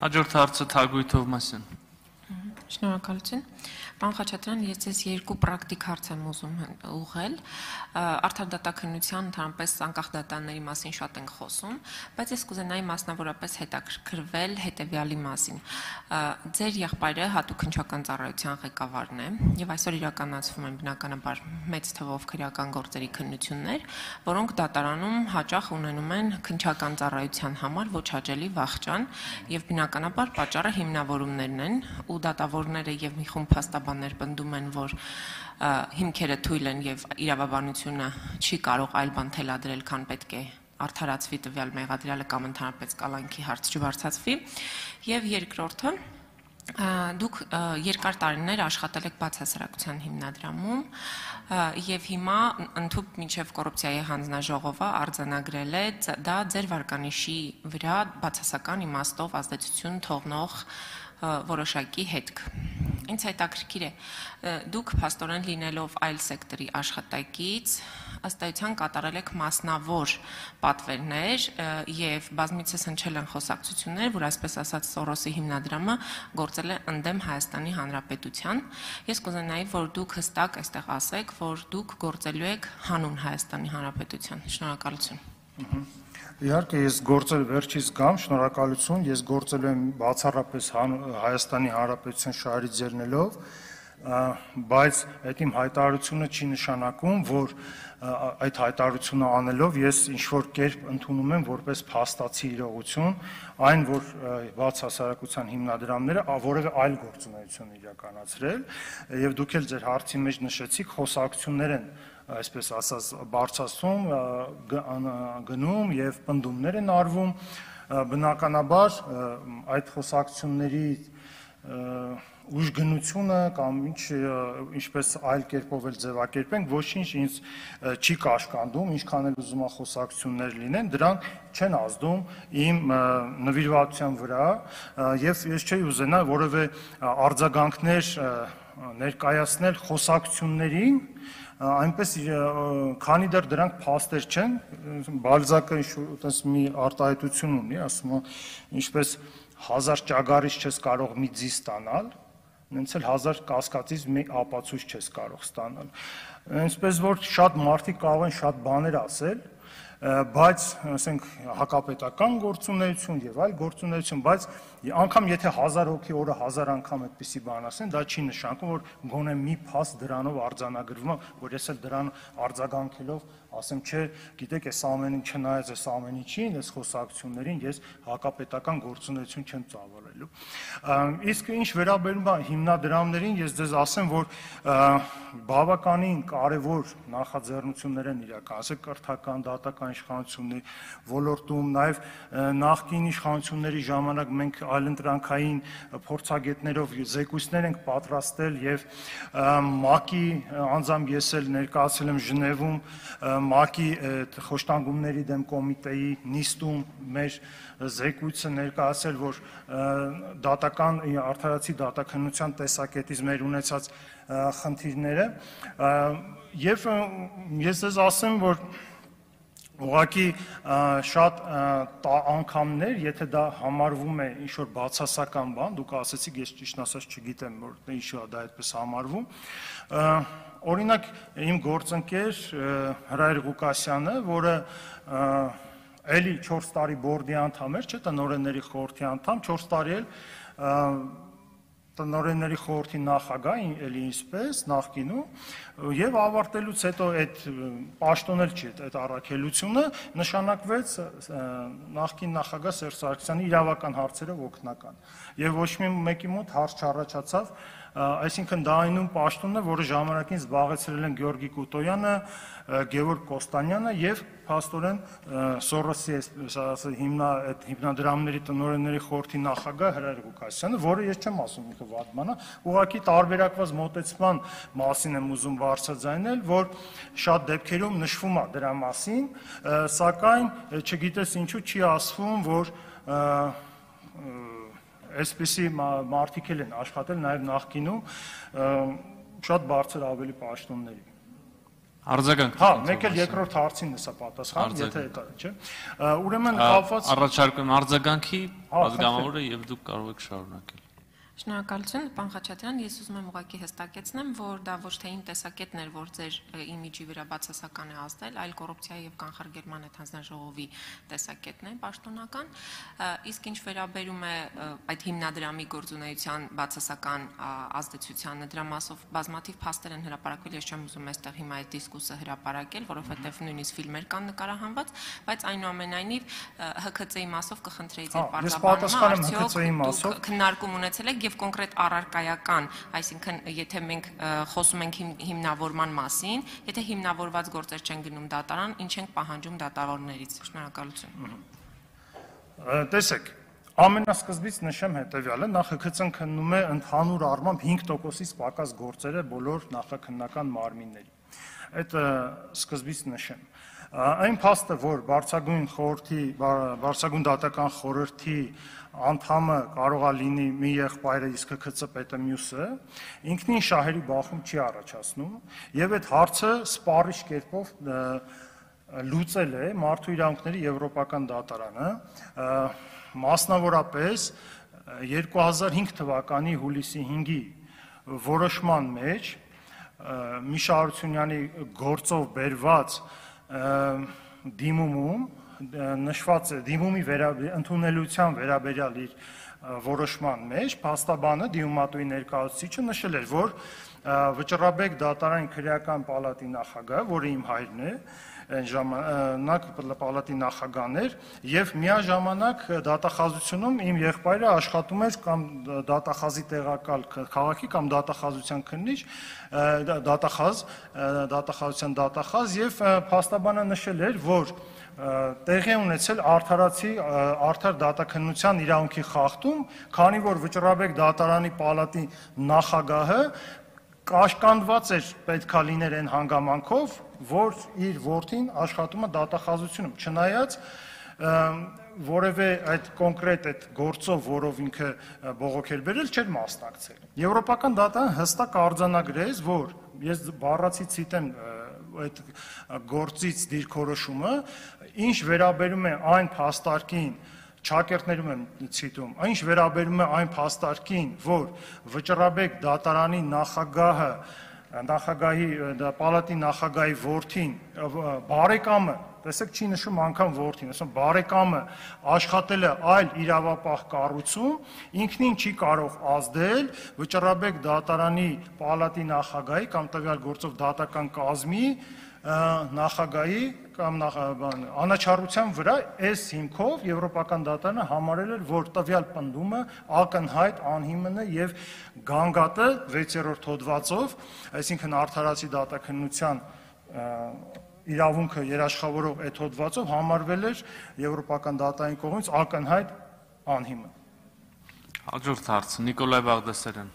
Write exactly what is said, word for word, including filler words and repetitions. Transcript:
Հաջորդ հարցը Թագուհի Թովմասյան։ Շնորհակալություն։ Պարոն Խաչատրյան, ես ձեզ երկու պրակտիկ հարց եմ ուզում ուղղել։ Արդար դատաքննության ընդհանրապես անկախ դատաների մասին շատ ենք խոսում, բայց ես կուզենայի մասնավորապես հետաքրքրվել հետևյալի մասին։ Ձեր եղբայրը հատուկ քննչական ծառայության ղեկավարն է, եւ այսօր իրականացվում են բնականաբար մեծ թվով քրեական գործերի քննություններ, որոնք դատարանում հաճախ ունենում են քննչական ծառայության համար ոչ հաճելի վախճան, եւ բնականաբար պատճառը հիմնավորումներն են, ու դատավորները եւ մի խումբ փաստաբաններ պնդում են, որ հիմքերը թույլ են եւ իրավաբանությունը չի կարող այլ բան թելադրել, քան պետք է արդարացվի տվյալ մեղադրյալը կամ ընդհանրապես կալանքի հարց չբարձրացվի։ Եվ երկրորդը, դուք երկար տարիներ աշխատել եք բացասարակության հիմնադրամում եւ հիմա ընդհանուր մինչեւ կոռուպցիայի հանձնաժողովը արձանագրել է դա ձեր վարկանիշի վրա բացասական իմաստով ազդեցություն թողնող որոշակի հետք։ Ինձ հետաքրքիր է, դուք փաստորեն լինելով այլ սեկտորի աշխատակից, ըստ էության կատարել եք մասնավոր պատվերներ եւ բազմիցս հնչել են խոսակցություններ, որ այսպես ասած Սորոսի հիմնադրամը գործել է ընդդեմ Հայաստանի Հանրապետության։ Ես կուզենայի, որ դուք հստակ այստեղ ասեք, որ դուք գործելու եք հանուն Հայաստանի Հանրապետության։ Շնորհակալություն։ Իհարկե ես գործել վերջից գամ, շնորհակալություն, ես գործել եմ բացառապես Հայաստանի Հանրապետության շահերից ելնելով, բայց այդ իմ հայտարարությունը չի նշանակում, որ այդ հայտարարությունը անելով ես ինչ-որ կերպ ընդունում եմ որպես փաստացի իրողություն, այն որ բացասարակության հիմնադրամները որևէ այլ գործունեություն իրականացրել, եւ դուք էլ ձեր հարցի մեջ նշեցիք, խոսակցություններ են այսպես ասած բարձրացում, գնում եւ պնդումներ են արվում, բնականաբար այդ խոսակցությունների ուժգնությունը կամ ինչ ինչպես այլ կերպով էլ ձևակերպենք, ոչինչ ինձ չի կաշկանդում, ինչքան էլ ուզում խոսակցություններ լինեն, դրանք չեն ազդում իմ նվիրվածության վրա եւ ես չէի ուզենա որևէ արձագանքներ ներկայացնել խոսակցություններին, այնպես քանի դեռ դրանք փաստեր չեն, Բալզակը այնպես մի արտահայտություն ունի, ասում է, ինչպես հազար ճագարից չես կարող մի ձի ստանալ, նենց էլ հազար կասկածից մի ապացույց չես կարող ստանալ։ Այսպես որ շատ մարդիկ կարող են շատ բաներ ասել, բայց ասենք հակապետական գործունեություն եւ այլ գործունեություն, բայց անգամ եթե հազար հոգի օրը հազար անգամ այդպիսի բան ասեն, դա չի նշանակում, որ գոնե մի փաստ դրանով արձանագրվում է, որ ես էլ դրան արձագանքելով ասեմ, չէ, գիտեք, այս ամենին չնայած այս ամեն ինչին, այս խոսակցություններին ես հակապետական գործունեություն չեմ ծավալելու։ Իսկ ինչ վերաբերում է հիմնադրամներին, ես ձեզ ասեմ, որ բավականին կարևոր նախաձեռնություններ են իրականացել կրթական, դատական իշխանությունների ոլորտում, նաև նախկին իշխանությունների ժամանակ մենք այլընտրանքային փորձագետներով զեկույցներ ենք պատրաստել եւ ՄԱԿ-ի անձամբ ես էլ ներկայացել եմ Ժնևում ՄԱԿ-ի խոշտանգումների դեմ կոմիտեի նիստում մեր զեկույցը ներկայացել, որ դատական արդարացի դատաքննության տեսակետից մեր ունեցած խնդիրները եւ ես ձեզ ասեմ, որ ուղղակի շատ անգամներ, եթե դա համարվում է ինչ-որ բացասական բան, դուք ասեցիք, ես ճիշտ ասած չգիտեմ, որ ինչու է դա այդպես համարվում, օրինակ իմ գործընկեր Հրայր Ղուկասյանը, որը էլի չորս տարի բորդի անդամ էր, չէ, տնօրենների խորհրդի անդամ, չորս տարի էլ տնօրենների խորհրդի նախագահ, էլի ինչպես, նախկինում, եւ ավարտելուց հետո այդ պաշտոն էլ չի, այդ առաքելությունը նշանակվեց նախկին նախագահ Սերժ Սարգսյանի իրավական հարցերով օգնական։ Եվ ոչ մի մեկի մոտ հարց չառաջացավ, այսինքն դա այնուն պաշտոնն է, որը ժամանակին զբաղեցրել են Գեորգի Կուտոյանը, Գևորգ Կոստանյանը եւ փաստորեն Սորոսի հիմնադրամների տնօրենների խորհրդի նախագահ Հրայր Ղուկասյանը, որը ես չեմ ասում ինքը վատ բան է, ուղղակի տարբերակված մոտեցման մասին եմ ուզում բարձրաձայնել, որ շատ դեպքերում նշվում է դրա մասին, սակայն չգիտես ինչու չի ասվում, որ այսպիսի մարդիկ էլ են աշխատել նաև նախկինում շատ բարձր ավելի պաշտոնների։ Արձագանք։ Հա, մեկ էլ երկրորդ հարցին է սա պատասխան, եթե դա չէ։ Ուրեմն կապված Առաջարկում եմ արձագանքի պատգամավորը եւ դուք կարող եք շարունակել։ Շնորհակալություն, պարոն Խաչատրյան, ես ուզում եմ ուղղակի հստակեցնեմ, որ դա ոչ թե իմ տեսակետն էր, որ ձեր իմիջի վրա բացասական է ազդել, այլ կոռուպցիայի եւ կանխարգելման հանձնաժողովի տեսակետն է պաշտոնական, իսկ ինչ վերաբերում է այդ հիմնադրամի գործունեության բացասական ազդեցությանը, դրա մասով բազմաթիվ փաստեր են հրապարակվել, ես չեմ ուզում այստեղ հիմա այդ դիսկուսը հրապարակել, որովհետեւ նույնիսկ ֆիլմեր կան նկարահանված, բայց այնուամենայնիվ Հ K C-ի մասով կխնդրեի ձեր պարտավորումը, արդյոք քննարկում ունեցել եք եւ կոնկրետ առարկայական, այսինքն եթե մենք խոսում ենք հիմնավորման մասին, եթե հիմնավորված գործեր չեն գնում դատարան, ինչ ենք պահանջում դատավորներից։ Շնորհակալություն։ Տեսեք, ամենասկզբից նշեմ հետեւյալը, նախ Հ K C-ն քննում է ընդհանուր առմամբ հինգ տոկոսից պակաս գործերը բոլոր նախաքննական մարմինների։ Այդ սկզբից նշեմ։ Այն փաստը, որ բարձրագույն խորհրդի, բարձրագույն դատական խորհրդի անդամը կարող է լինի մի եղբայրը, իսկ Հ K C պետը մյուսը, ինքնին շահերի բախում չի առաջացնում, եւ այդ հարցը սպառիչ կերպով լուծել է Մարդու իրավունքների Եվրոպական դատարանը, մասնավորապես երկու հազար հինգ թվականի հուլիսի հինգի որոշման մեջ Միշա Հարությունյանի գործով բերված դիմումում նշված է դիմումի ընդունելության վերաբերյալ իր որոշման մեջ փաստաբանը դիմումատուի ներկայացուցիչը նշել էր, որ Վճռաբեկ դատարանի քրեական պալատի նախագահ, որը իմ հայրն է, այն ժամանակ պալատի նախագահն էր, եւ միաժամանակ դատախազությունում իմ եղբայրը աշխատում էր կամ դատախազի տեղակալ քաղաքի կամ դատախազության քննիչ, դատախազ, դատախազության դատախազ եւ փաստաբանը նշել էր, որ տեղի ունեցել արդարացի արդար դատաքննության իրավունքի խախտում, քանի որ Վճռաբեկ դատարանի պալատի նախագահը կաշկանդված էր պետքա լիներ այն հանգամանքով, որ իր որդին աշխատում է դատախազությունում, չնայած որևէ այդ կոնկրետ այդ գործով, որով ինքը բողոք էր բերել, չէր մասնակցել։ Եվրոպական դատարանը հստակ արձանագրեց, որ ես բառացի ցիտեմ այդ գործից դիրքորոշումը, ինչ վերաբերում է այն փաստարկին, Չակերտներում եմ ցիտում, ինչ վերաբերում է այն փաստարկին, որ Վճռաբեկ դատարանի նախագահը, նախագահի պալատի նախագահի որդին, բարեկամը, տեսեք չի նշում անգամ որդին, ասում բարեկամը աշխատել է այլ իրավապահ կառույցում, ինքնին չի կարող ազդել Վճռաբեկ դատարանի պալատի նախագահի կամ տվյալ գործով դատական կազմի նախագահի կամ անաչառության վրա այս հիմքով Եվրոպական դատարանը համարել էր, որ տվյալ պնդումը ակնհայտ անհիմն է եւ գանգատը վեցերորդ հոդվածով, այսինքն արդարացի դատաքննության իրավունքը երաշխավորող այդ հոդվածով համարվել էր Եվրոպական դատարանի կողմից ակնհայտ անհիմն։ Հաջորդ հարցը Նիկոլայ Բաղդասարյան։